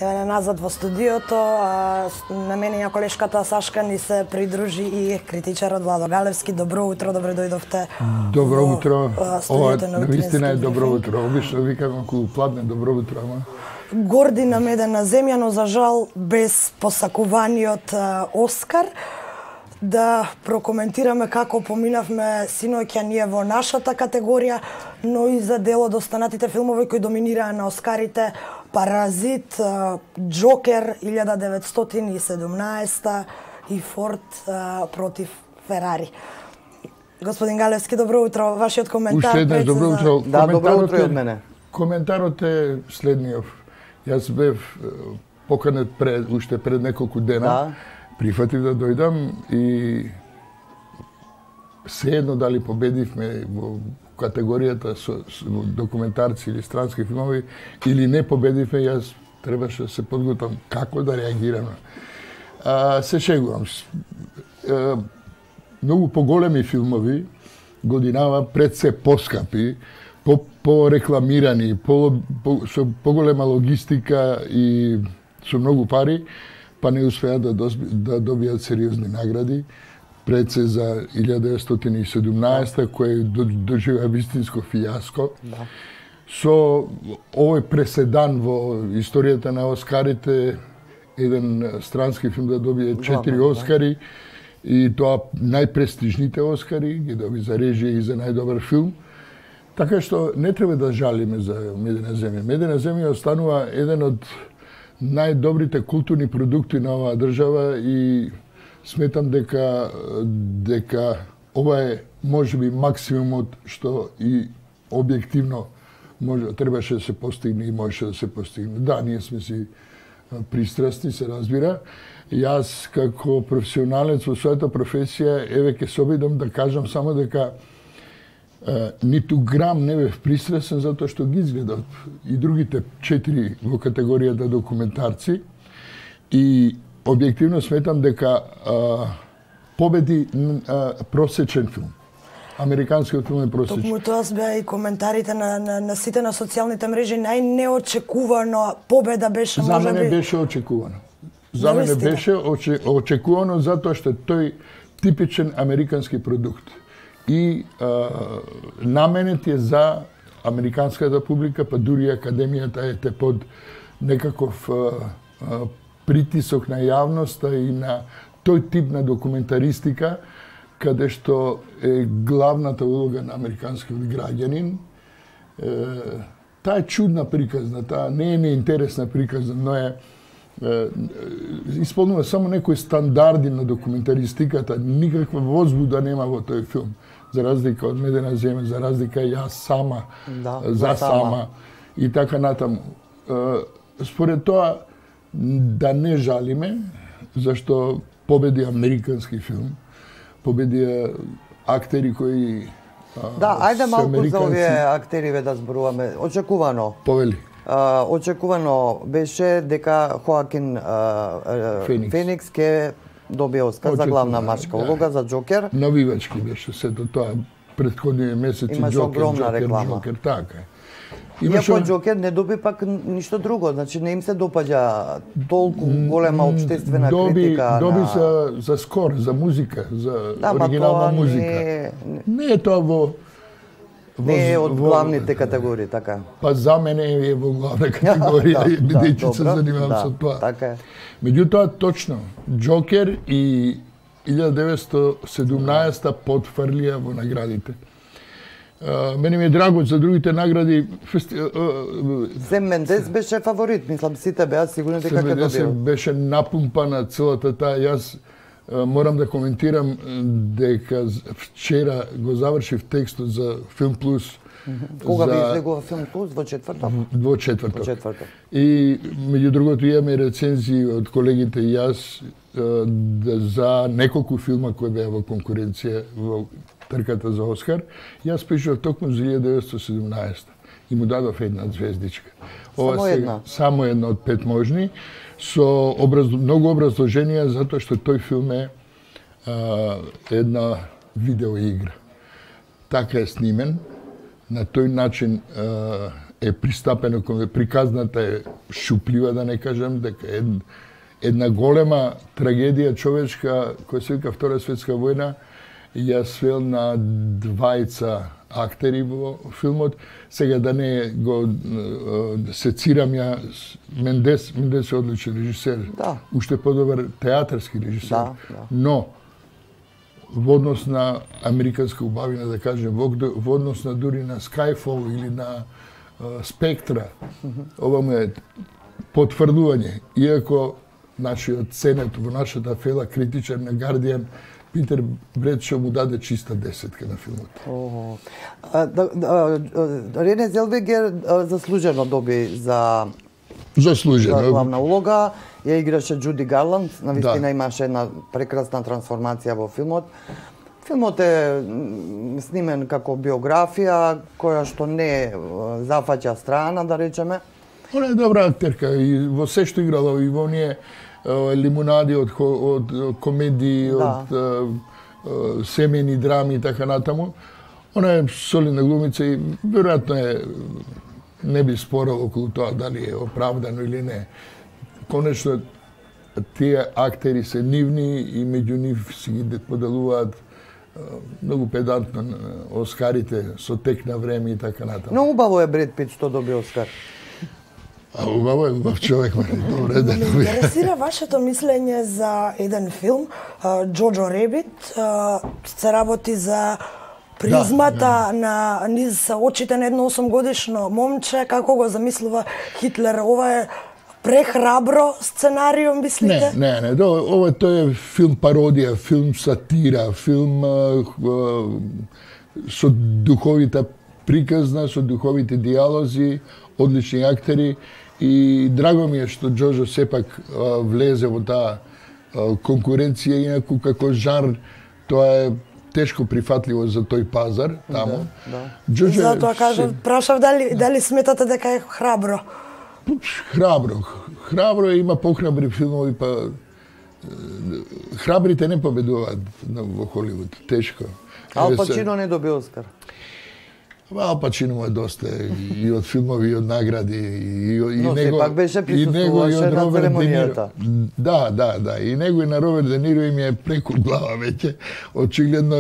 Еве назад во студиото, на мене и колешката Сашка ни се придружи и критичарот Владо Галевски. Добро утро, добре дојдовте. Добро утро. Ова навистина е добро брифинг. утро. Обично викам околу пладне добро утро, ама Горди намедена земја, но за жал без посакуваниот Оскар. Да прокоментираме како поминавме синоќа ние во нашата категорија, но и за дел од останатите филмови кои доминираа на Оскарите: Паразит, Джокер 1917 и Форд против Ферари. Господин Галевски, добро утро. Вашиот коментар. уште еднаш добро утро. Да, добро утро и од мене. Коментарот е следниот. Јас бев поканет уште пред неколку дена. Да. Прифатив да дојдам и sejedno дали победивме во категоријата со документарци или странски филмови или не победивме, јас требаше да се подготвам како да реагирам. Се шегувам. Многу поголеми филмови годинава пред се поскапи, порекламирани, со поголема логистика и со многу пари, па не успеа да добијат сериозни награди. Пред се за 1917 кој доживеа вистинско фијаско. Да. Со овој преседан во историјата на Оскарите, еден странски филм да добие 4 Оскари, и тоа најпрестижните Оскари, ги доби за режија и за најдобар филм. Така што не треба да жалиме за Медена земја. Медена земја останува еден од најдобрите културни продукти на оваа држава и сметам дека ова е можеби максимумот што и објективно требаше да се постигне и можеше да се постигне. Да, ние сме си пристрасни, се разбира. Јас како професионалец во својата професија, еве ќе се обидам да кажам само дека ниту грам не бев пристрасен затоа што ги изгледав и другите 4 во категоријата документарци и објективно сметам дека победи просечен филм. Американскиот филм е просечен. Токму тоа беа и коментарите на сите на социјалните мрежи. Најнеочекувано победа беше За можеби. мене беше очекувано. За мене беше очекувано затоа што тој типичен американски продукт. И наменет е за американската публика, па дури академијата е под некаков притисок на јавноста и на тој тип на документаристика, каде што е главната улога на американскиот граѓанин. Таа е чудна приказна, таа не е неинтересна приказна, но е исполнува само некои стандарди на документаристиката, никаква возбуда нема во тој филм. За разлика од Медена земја, за разлика јас сама, Да, за сама и така натаму. Според тоа, да не жалиме, зашто победи американски филм, победија актери кои Да, ајде се малку за американци. овие актериве да зборуваме. Очекувано. Повели. Очекувано беше дека Хоакин Феникс ќе добие Оскар за главна мачка улога за Джокер. Навивачки беше сето тоа претходниот месеци Имаше огромна реклама. Джокер, така е. Иако Джокер не доби пак ништо друго, значи не им се допаѓа толку голема општествена критика. Доби за скор, за музика, за оригинална музика. Не е тоа не е од главните категории, така. Па за мене е во главна категорија, бидејќи се занимавам со тоа. Така е. Меѓутоа, точно, Джокер и 1917 потфрлија во наградите. Мене ми е драго за другите награди. Сем Мендес беше фаворит, мислам сите беа сигурни дека ќе добие. Беше напумпана целата таа. Јас морам да коментирам дека вчера го завршив текстот за Film Plus. Кога ви излегува Film Plus? Во четврток? Во четврток. И меѓу другото имаме рецензии од колегите и јас за неколку филма кои беа во конкуренција во трката за Оскар. Јас пишав токму за 1917 и му дадов една звездичка. Само една? Само една од 5 можни, со многу образложенија затоа што тој филм е една видеоигра. Така е снимен, на тој начин е пристапено кон приказната е шуплива, да не кажам, дека една голема трагедија човечка која се вика Втора светска војна ја свел на двајца актери во филмот. Сега да не го сецирам ја, Мендес е одличен режисер, уште подобар театарски режисер, но во однос на американска убавина, да кажем, во однос на дури на Skyfall или на Спектра, ова му е потврдување, иако нашиот ценет во нашата фела критичар на Guardian Питер Бредшо му даде чиста 10 на филмот. Рене Зелвегер заслужено доби за главна улога. Ја играше Джуди Гарланд, навистина имаше една прекрасна трансформација во филмот. Филмот е снимен како биографија, која што не зафаќа страна, да речеме. Она е добра актерка и во се што играла, и во оние лимунади од комедии, од семејни драми и така натаму. Она е солидна глумица и веројатно е не би спорал околу тоа дали е оправдано или не. Конечно, тие актери се нивни и меѓу нив си ги поделуваат многу педантно Оскарите со тек на време и така натаму. Но убаво е Бред Пит што доби Оскар. Убаво е, убав човек, добре да доби. Ме интересира вашето мислење за еден филм, Джоджо Ребит, се работи за призмата на низ очите на едно 8-годишно момче, како го замислува Хитлер. Ова е прехрабро сценарио, мислите? Не, ова тој е филм пародија, филм сатира, филм со духовита приказна, со духовите диалози, одлични актери и драго ми е што Джоджо сепак влезе во таа конкуренција, инаку како жар тоа е тешко прифатливо за тој пазар таму. Затоа кажав, прашав дали сметате дека е храбро. Храбро има похрабри филмови, па храбрите не победуваат во Холивуд, тешко. Ал Пачино не доби Оскар. Ал Пачино му е доста и од филмови, и од награди, и но него, сепак беше присуствуваше на церемонијата. Да, и него и на Роберт Де Ниро им е преку глава веќе. Очигледно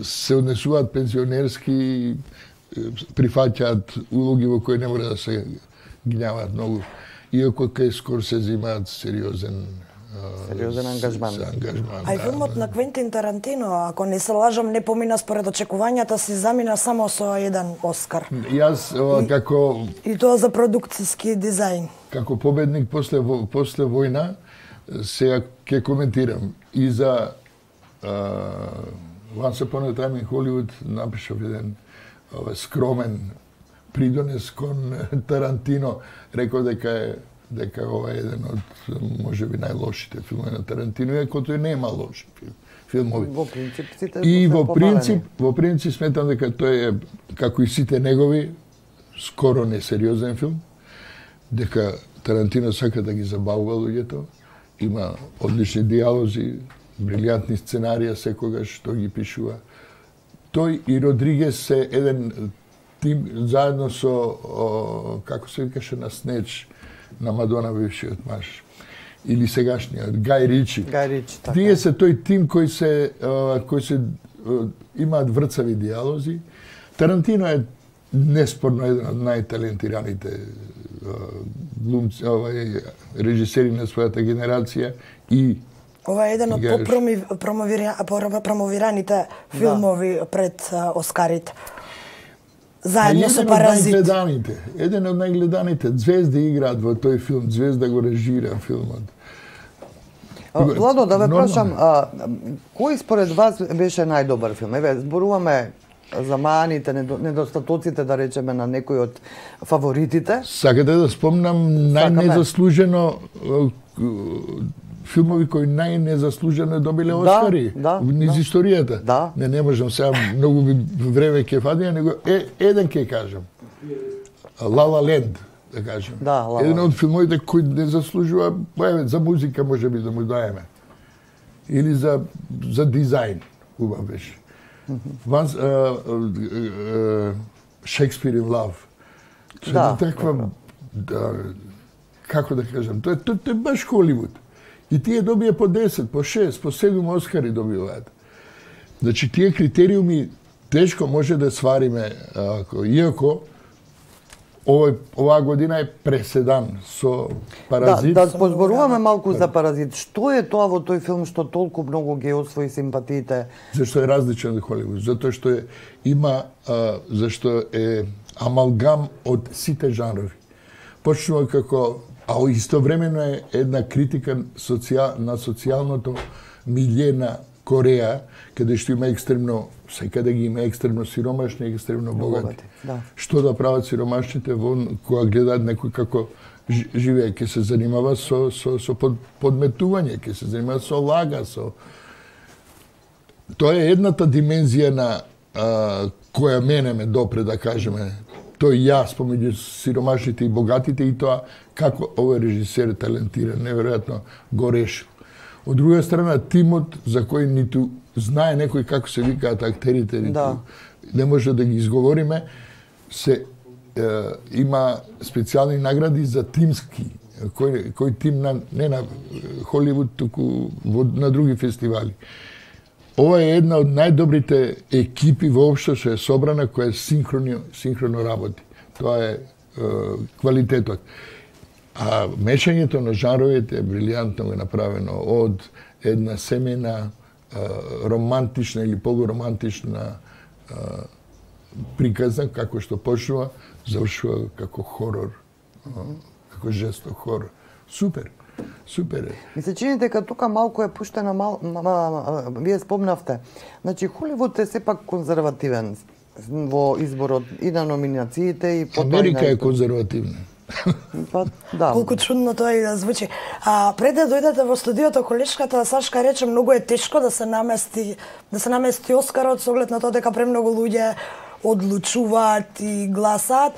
се однесуваат пензионерски, прифаќаат улоги во кои не мора да се гнјаваат многу. Иако кај Скорсезе имаат сериозен ангажман. А и филмот на Квентин Тарантино, ако не се лажам, не помина според очекувањата си, замина само со еден Оскар. Јас како... И тоа за продукцијски дизајн. Како победник после војна, сега ќе коментирам. И за Once Upon a Time in Hollywood напишав еден скромен придонес кон Тарантино. Рекол дека ова е еден од можеби најлошите филмови на Тарантино, иако тој нема лоши филмови. Во принцип сите и во принцип сметам дека тој е како и сите негови скоро несериозен филм, дека Тарантино сака да ги забавува луѓето, има одлични диалози, брилјантни сценарија секогаш што ги пишува. Тој и Родригес се еден тим заедно со како се викаше на Снеч на Мадона бившиот маж или сегашниот Гај Ричи. Така. Тие се тој тим кои се имаат врцави диалози. Тарантино е неспорно еден од најталентираните глумци, режисери на својата генерација и ова е еден од промовираните филмови пред Оскарите. Заедно со Паразит. Еден од најгледаните. Звезди играат во тој филм, Звезда го режира филмот. Владо, да ве прашам, кој според вас беше најдобар филм? Еве, зборуваме за маните, недостатоците, да речеме, на некои од фаворитите. Сакате да спомнам најнезаслужено филмови кои најнезаслужено добиле Оскари низ историјата. Не можам сега многу време ќе фадија, него еден ќе кажам. La La Land, да кажем. Еден од филмовите кои не заслужува, за музика може би да му даеме. Или за Shakespeare in Love. Да, таква, како да кажам, тоа е баш Холивуд. И тие добија по 10, по 6, по 7 Оскари добиваат. Значи, тие критериуми тешко може да свариме, иако оваа година е преседан со Паразит. Да позборуваме малку за Паразит. Што е тоа во тој филм што толку многу ги освои симпатиите? Зашто е различен од Холивуд, затоа што зашто е амалгам од сите жанрови. Почнува како, а истовремено е една критика на социјалното милје на Кореја, каде што има екстремно, секаде ги има екстремно сиромашни и екстремно богати. Што да прават сиромашните кога гледаат некој како живее, ќе се занимава со подметување, ќе се занимава со лага, Тоа е едната димензија на која мене ме допре, да кажеме, тој јас помеѓу сиромашните и богатите и тоа како овој режисер талентиран, неверојатно го решил. Од друга страна, тимот за кој ниту знае некој како се викаат актерите, не може да ги изговориме, има специјални награди за тимски, кој тим не на Холивуд, туку на други фестивали. Ова е една од најдобрите екипи воопшто што е собрана, која синхроно работи. Тоа е квалитетот. А мешањето на жанровите е брилијантно го направено од една семејна романтична или полуромантична приказна, како што почнува, завршува како хорор, како жесток хорор. Супер. Супер е. Ми се чини дека тука малку е пуштена, вие спомнавте. Значи, Холивуд е сепак конзервативен во изборот и на номинациите и потоа Америка е конзервативна. Да. Колку чудно тоа и да звучи. Пред да дојдете во студиото, колешката Сашка рече многу е тешко да се намести Оскарот со оглед на тоа дека премногу луѓе одлучуваат и гласаат.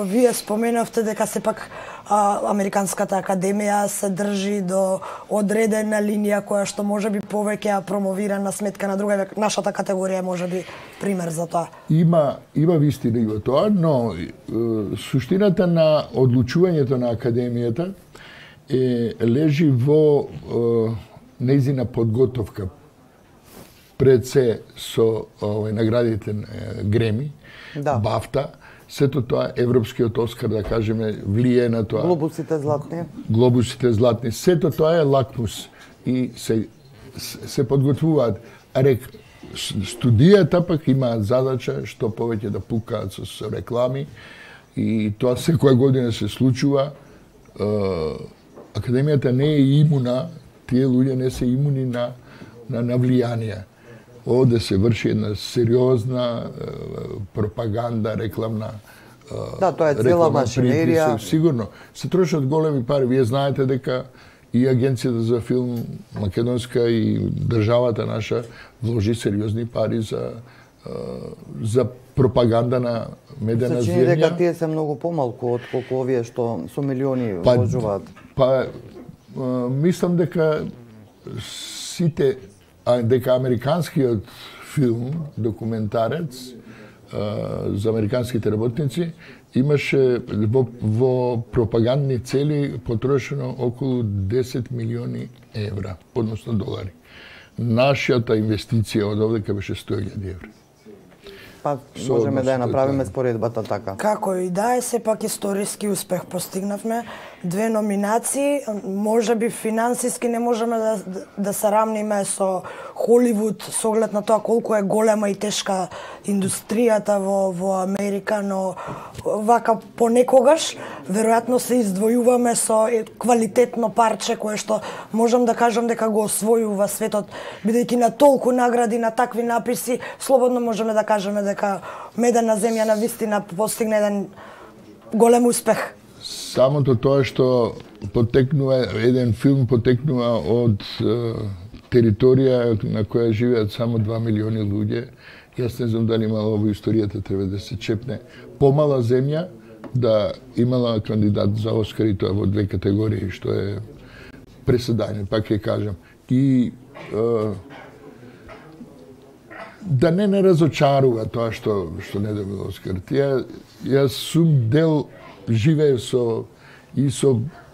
Вие споменавте дека сепак Американската академија се држи до одредена линија која што можеби повеќе ја промовира на сметка на друга. Нашата категорија можеби пример за тоа. Има вистина и во тоа, но суштината на одлучувањето на академијата лежи во нејзина подготовка пред се со наградите Греми, Бафта. Сето тоа, европскиот Оскар, да кажеме, влие на тоа. Глобусите златни. Глобусите златни. Сето тоа е лакмус. И се подготвуваат. Студијата пак имаат задача што повеќе да пукаат со реклами. И тоа секоја година се случува. Академијата не е имуна, тие луѓе не се имуни на влијанија. Овде се врши една сериозна пропаганда, рекламна. Да, тоа е цела машинерија. Сигурно. Се трошат големи пари. Вие знаете дека и Агенцијата за филм македонска и државата наша вложи сериозни пари за пропаганда на медена земја. Се чини дека тие се многу помалку од колку овие што со милиони вложуваат. Мислам дека дека американскиот филм, документарец за американските работници, имаше во пропагандни цели потрошено околу 10 милиони евра, односно долари. Нашата инвестиција од овдека беше 100.000 евра. Можеме да ја направиме споредбата така. Како и да е, сепак историски успех постигнавме. 2 номинации, можеби финансиски не можеме да се рамниме со Холивуд со оглед на тоа колку е голема и тешка индустријата во Америка, но вака понекогаш веројатно се издвојуваме со квалитетно парче кое што можам да кажам дека го освојува светот, бидејќи на толку награди, на такви написи, слободно можеме да кажеме дека Медена земја на вистина постигна еден голем успех. Самото тоа што еден филм потекнува од територија на која живеат само 2 милиони луѓе, јас не знам дали имало во историјата треба да се чепне помала земја да имала кандидат за Оскар и тоа во 2 категории, што е преседање, пак ќе кажам. И да не разочарува тоа што не добил Оскар. Јас сум дел, живеев со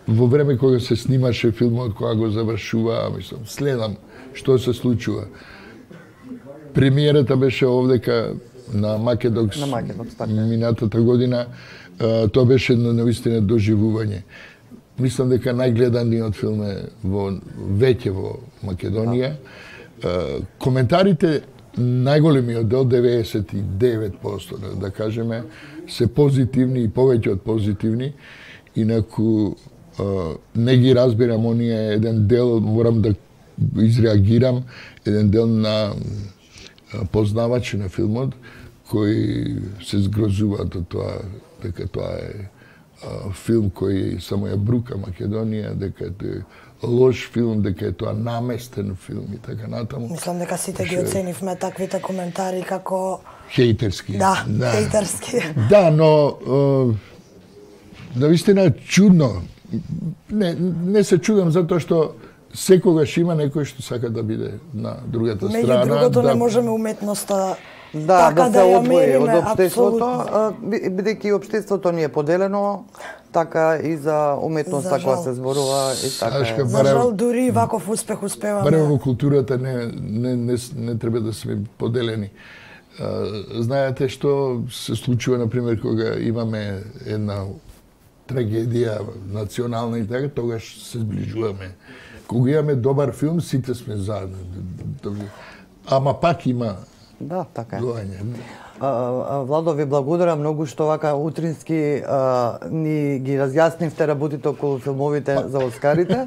во време кога се снимаше филмот, кога го завршува, мислам, следам што се случува. Премиерата беше овдека на Македокс минатата година. Тоа беше навистина доживување. Мислам дека најгледаниот филм е веќе во Македонија. Коментарите, најголемиот дел, 99%, да кажеме, се позитивни и повеќе од позитивни. Инаку не ги разбирам оние еден дел, морам да изреагирам, еден дел на познавачи на филмот кои се згрозуваат од тоа дека тоа е филм кој само ја брука Македонија, дека е лош филм, дека е тоа наместен филм и така натаму. Мислам дека сите ги оценивме таквите коментари како хејтерски. Да, хејтерски. Да, но навистина чудно. Не се чудам затоа што секогаш има некој што сака да биде на другата страна. Меѓу другото не можеме уметноста да се одвои од општеството, бидејќи општеството ни е поделено, така и за уметноста која се зборува и така. За жал, дури ваков успех успеваме. Барем во културата не треба да сме поделени. Знаете што се случува, например, кога имаме една трагедија национална и така, тогаш се зближуваме. Кога имаме добар филм, сите сме заедно. Ама пак има така е. Владо, ви благодарам многу што вака утрински ни ги разјаснивте работите околу филмовите за Оскарите.